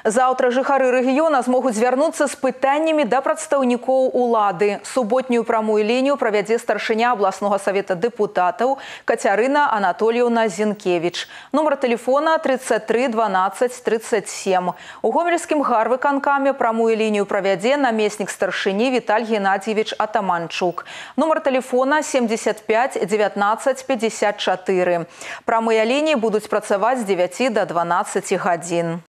Заўтра жыхары рэгіёна змогуць звярнуцца з пытаннямі да прадстаўнікоў улады. Суботнюю прамую лінію правядзе старшыня абласнога савета дэпутатаў Кацярына Анатольевна Зінкевіч. Нумар тэлефона 33 12 37. У гомельскім гарвыканкаме прамую лінію правядзе намеснік старшыні Віталь Геннадьевич Атаманчук. Нумар тэлефона 75 19 54. Прамыя лініі будуць працаваць з 9 до 12 гадзін.